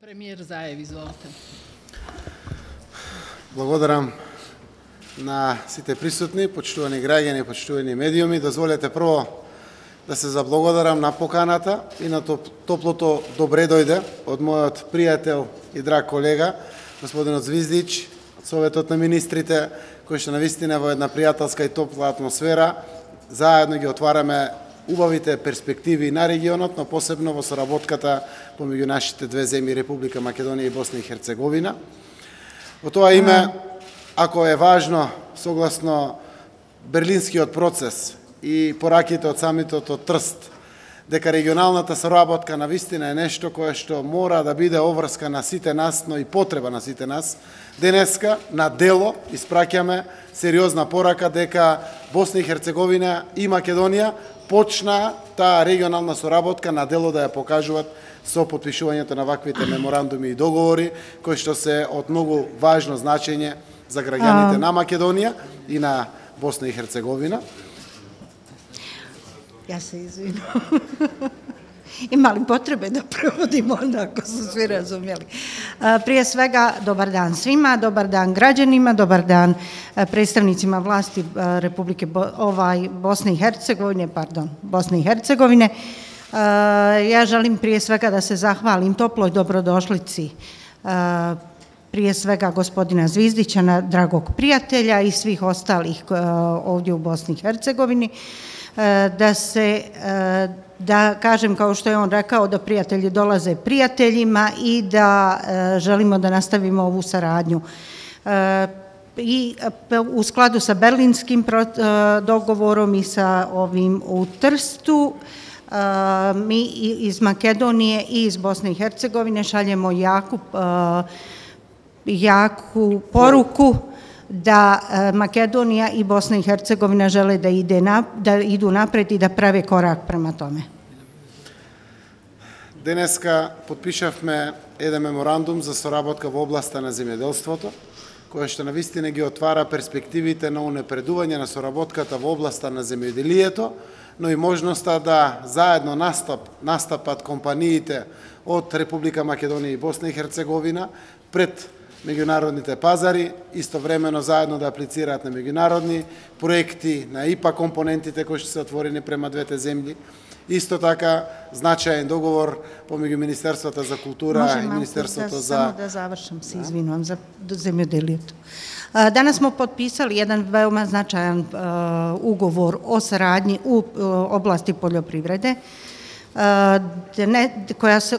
Премиер Заев, изволете. Благодарам на сите присутни, почитувани граѓани, почитувани медиуми. Дозволете прво да се заблагодарам на поканата и на топлото добре дојде од мојот пријател и драг колега, господинот Звиздич, од Советот на министрите, кој што навистина во една пријателска и топла атмосфера заедно ги отвараме убавите перспективи на регионот, но посебно во соработката помеѓу нашите две земји, Република Македонија и Босна и Херцеговина. Во тоа име, ако е важно, согласно Берлинскиот процес и пораките од самитот од Трст, дека регионалната соработка навистина е нешто кое што мора да биде обврска на сите нас, но и потреба на сите нас, денеска на дело испраќаме сериозна порака дека Босна и Херцеговина и Македонија почна таа регионална соработка на дело да ја покажуваат со потпишувањето на ваквите меморандуми и договори, кои што се од многу важно значење за граѓаните на Македонија и на Босна и Херцеговина. Ја се извинувам. Има ли потребе да проводимо onako su svi razumjeli? Prije svega, dobar dan svima, dobar dan građanima, dobar dan predstavnicima vlasti Republike Bosne i Hercegovine, Bosne i Hercegovine. Ja želim prije svega da se zahvalim toploj dobrodošlici prije svega gospodina Zvizdića, dragog prijatelja i svih ostalih ovdje u Bosni i Hercegovini, da kažem, kao što je on rekao, da prijatelji dolaze prijateljima i da želimo da nastavimo ovu saradnju. I u skladu sa berlinskim dogovorom i sa ovim u Trstu, mi iz Makedonije i iz Bosne i Hercegovine šaljemo jaku poruku da Makedonija i Bosna i Hercegovina žele da idu napred i da prave korak prema tome. Денеска потпишавме еден меморандум за соработка во областа на земјоделството, која што навистина ги отвара перспективите на унапредување на соработката во областа на земјоделието, но и можноста да заедно настапат компаниите од Република Македонија и Босна и Херцеговина пред меѓународните пазари, истовремено заедно да аплицираат на меѓународни проекти, на ИПА компонентите кои што се отворени према двете земји. Исто така, значаен договор помеѓу Министерството за култура и Министерството за... Само да завршам, се извинувам за земјоделието. Danas smo potpisali jedan veoma značajan ugovor o saradnji u oblasti poljoprivrede,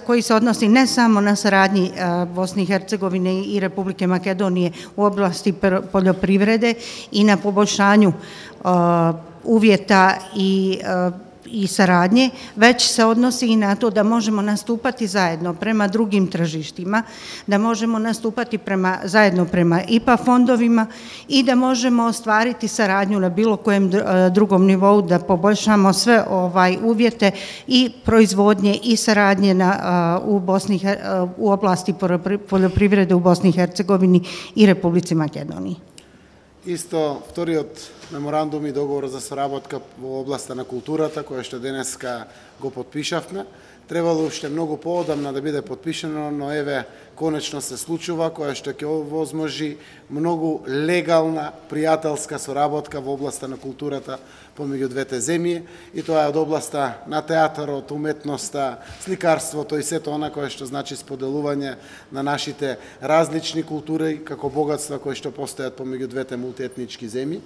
koji se odnosi ne samo na saradnji Bosne i Hercegovine i Republike Makedonije u oblasti poljoprivrede i na poboljšanju uvjeta i saradnje, već se odnosi i na to da možemo nastupati zajedno prema drugim tržištima, da možemo nastupati zajedno prema IPA fondovima i da možemo ostvariti saradnju na bilo kojem drugom nivou, da poboljšamo sve uvjete i proizvodnje i saradnje u oblasti poljoprivrede u Bosni i Hercegovini i Republici Makedoniji. Исто, вториот меморандум и договор за соработка во областа на културата, која што денеска го потпишавме, требало уште многу поодамна да биде потпишено, но еве, конечно се случува, која што ќе овозможи многу легална, пријателска соработка во областа на културата помеѓу двете земји, и тоа е од областа на театарот, уметноста, сликарството и сето она кое што значи споделување на нашите различни култури како богатства кои што постојат помеѓу двете мултиетнички земји.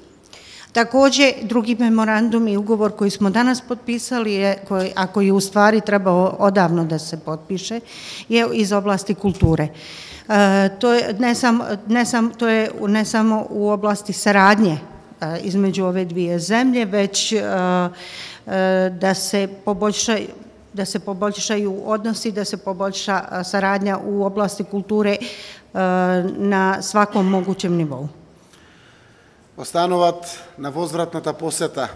Takođe, drugi memorandum i ugovor koji smo danas potpisali, a koji u stvari trebao odavno da se potpiše, je iz oblasti kulture. To je ne samo u oblasti saradnje između ove dvije zemlje, već da se poboljšaju odnosi, da se poboljša saradnja u oblasti kulture na svakom mogućem nivou. Остануваат на возвратната посета,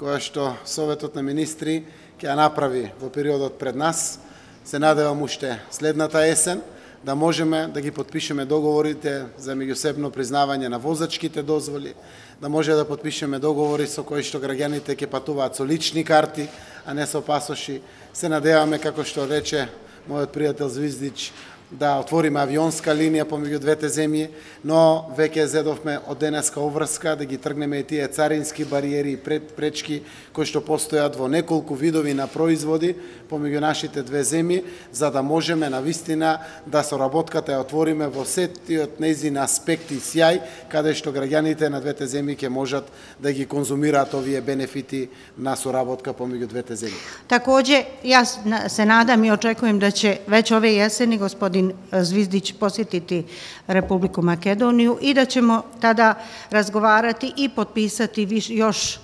која што Советот на министри ќе ја направи во периодот пред нас. Се надевам уште следната есен да можеме да ги потпишеме договорите за меѓусебно признавање на возачките дозволи, да може да потпишеме договори со кои што граѓаните ќе патуваат со лични карти, а не со пасоши. Се надеваме, како што рече мојот пријател Звиздич, да отвориме авионска линија помеѓу двете земји, но веќе зедовме од денеска обврска да ги тргнеме и тие царински бариери и пречки кои што постојат во неколку видови на производи помеѓу нашите две земји, за да можеме навистина да соработката ја отвориме во сетиот нејзин аспект и сјај, каде што граѓаните на двете земји ќе можат да ги конзумираат овие бенефити на соработка помеѓу двете земји. Takođe, ja se nadam i očekujem da će već ove jeseni gospodin Zvizdić posjetiti Republiku Makedoniju i da ćemo tada razgovarati i potpisati još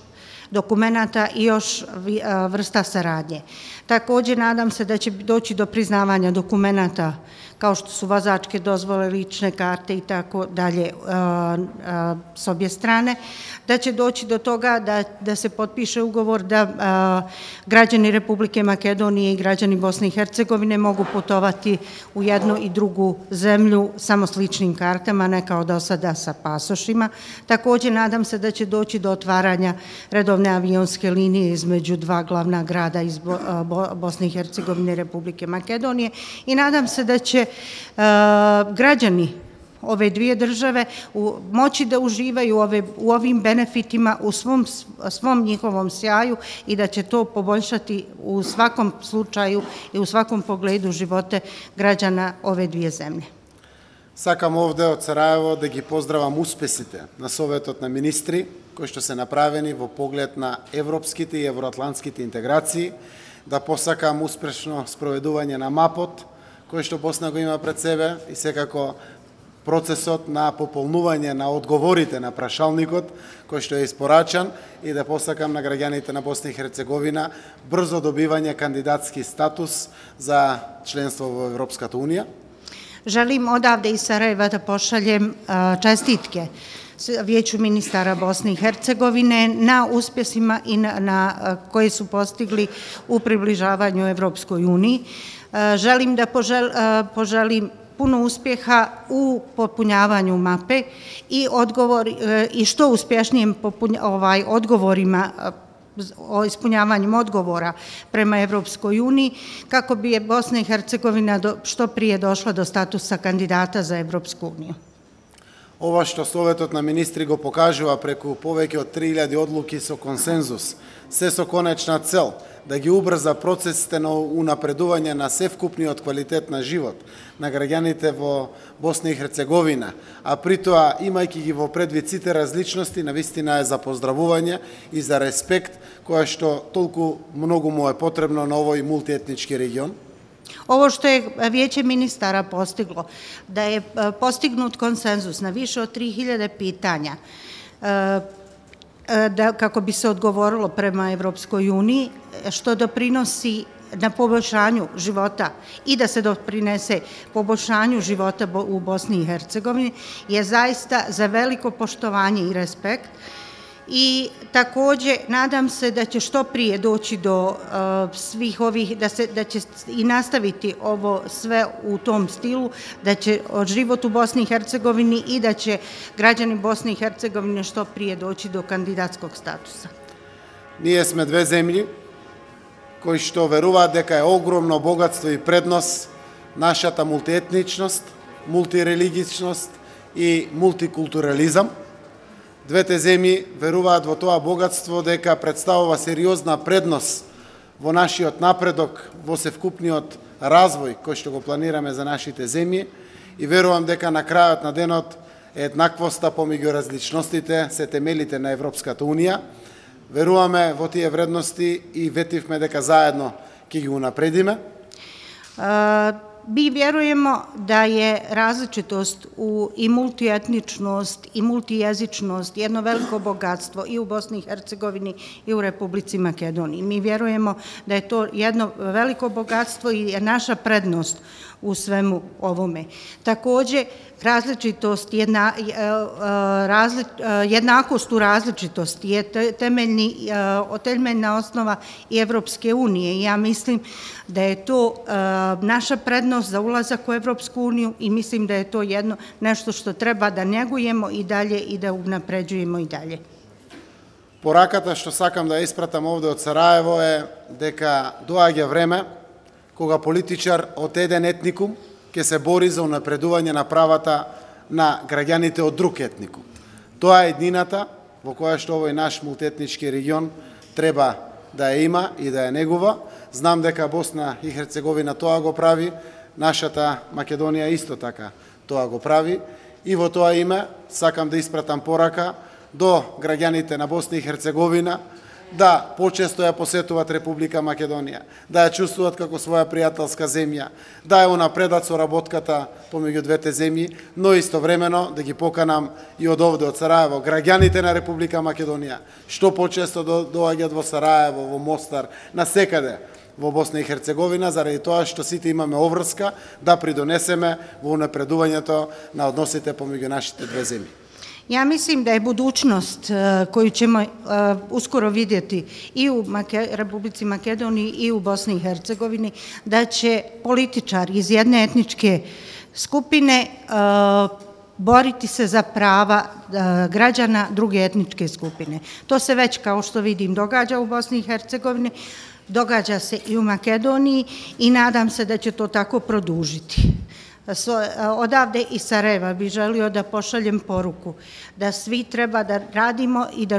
dokumenata i još vrsta saradnje. Takođe, nadam se da će doći do priznavanja dokumenata kao što su vozačke dozvole, lične karte i tako dalje s obje strane, da će doći do toga da se potpiše ugovor da građani Republike Makedonije i građani Bosne i Hercegovine mogu putovati u jednu i drugu zemlju samo s ličnim kartama, ne kao do sada sa pasošima. Takođe, nadam se da će doći do otvaranja redovne avionske linije između dva glavna grada iz Bosne i Hercegovine i Republike Makedonije i nadam se da će građani ove dvije države moći da uživaju u ovim benefitima u svom njihovom sjaju i da će to poboljšati u svakom slučaju i u svakom pogledu živote građana ove dvije zemlje. Сакам овде од Сараево да ги поздравам успесите на Советот на министри кои што се направени во поглед на европските и евроатлантските интеграции, да посакам успешно спроведување на МАПот, кој што Босна го има пред себе и секако процесот на пополнување на одговорите на прашалникот кој што е испорачан и да посакам на граѓаните на Босна и Херцеговина брзо добивање кандидатски статус за членство во Европската Унија. Želim odavde iz Sarajeva da pošaljem čestitke Vijeću ministara Bosne i Hercegovine na uspjesima i koje su postigli u približavanju Evropskoj uniji. Želim da poželim puno uspjeha u popunjavanju mape i što uspješnijem odgovorima o ispunjavanju odgovora prema Evropskoj uniji, kako bi Bosna i Hercegovina što prije došla do statusa kandidata za Evropsku uniju. Ова што Советот на министри го покажува преку повеќе од 3000 одлуки со консензус, се со конечна цел да ги убрза процесите на унапредување на севкупниот квалитет на живот на граѓаните во Босна и Херцеговина, а при тоа, имајќи ги во предвид сите различности, навистина е за поздравување и за респект, која што толку многу му е потребно на овој мултиетнички регион. Ovo što je Vijeće ministara postiglo, da je postignut konsenzus na više od 3000 pitanja kako bi se odgovorilo prema Evropskoj uniji, što doprinosi na poboljšanju života i da se doprinese poboljšanju života u Bosni i Hercegovini, je zaista za veliko poštovanje i respekt. I takođe nadam se da će što prije doći do svih ovih, da će i nastaviti ovo sve u tom stilu, da će život u Bosni i Hercegovini i da će građani Bosne i Hercegovine što prije doći do kandidatskog statusa. Ние сме две земји кои што веруваат дека е огромно богатство и преднос нашата мултиетничност, мултирелигичност и мултикултурализам. Двете земји веруваат во тоа богатство дека представува сериозна предност во нашиот напредок, во севкупниот развој кој што го планираме за нашите земји и верувам дека на крајот на денот еднаквоста помеѓу различностите се темелите на Европската Унија. Веруваме во тие вредности и ветивме дека заедно ќе ги унапредиме. Mi vjerujemo da je različitost i multietničnost i multijezičnost jedno veliko bogatstvo i u Bosni i Hercegovini i u Republici Makedoniji. Mi vjerujemo da je to jedno veliko bogatstvo i je naša prednost u svemu ovome. Takođe, različitost, jednakost u različitosti je temeljna osnova i Evropske unije. Ja mislim da je to naša prednost za ulazak u Evropsku uniju i mislim da je to nešto što treba da negujemo i dalje i da unapređujemo i dalje. Пораката што сакам да испратам овде од Сараево е дека доаѓа време кога политичар од еден етникум ќе се бори за унапредување на правата на граѓаните од друг етникум. Тоа е еднината во која што овој наш мултиетнички регион треба да ја има и да ја негува. Знам дека Босна и Херцеговина тоа го прави, нашата Македонија исто така тоа го прави, и во тоа име сакам да испратам порака до граѓаните на Босна и Херцеговина да почесто ја посетуваат Република Македонија, да ја чувствуваат како своја пријателска земја, да ја унапредат соработката помеѓу двете земји, но истовремено да ги поканам и од овде, од Сараево, граѓаните на Република Македонија, што почесто доаѓаат во Сараево, во Мостар, насекаде во Босна и Херцеговина, заради тоа што сите имаме обврска да придонесеме во унапредувањето на односите помеѓу нашите две земји. Ja mislim da je budućnost koju ćemo uskoro vidjeti i u Republici Makedoniji i u Bosni i Hercegovini, da će političari iz jedne etničke skupine boriti se za prava građana druge etničke skupine. To se već, kao što vidim, događa u Bosni i Hercegovini, događa se i u Makedoniji i nadam se da će to tako produžiti. Odavde iz Sarajeva bih želio da pošaljem poruku da svi treba da radimo i da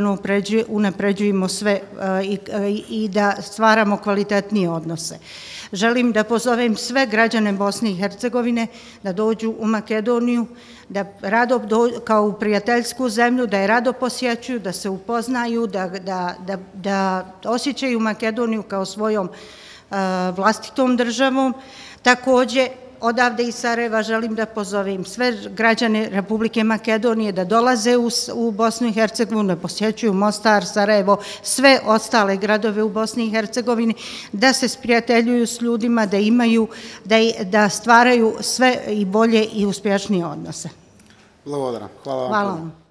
unapređujemo sve i da stvaramo kvalitetnije odnose. Želim da pozovem sve građane Bosne i Hercegovine da dođu u Makedoniju, da rado kao u prijateljsku zemlju, da je rado posjećuju, da se upoznaju, da osjećaju Makedoniju kao svojom vlastitom državom. Takođe, odavde iz Sarajeva želim da pozovem sve građane Republike Makedonije da dolaze u Bosnu i Hercegovinu, da posjećuju Mostar, Sarajevo, sve ostale gradove u Bosni i Hercegovini, da se sprijateljuju s ljudima, da stvaraju sve i bolje i uspješnije odnose. Благодарам. Hvala vam. Hvala vam.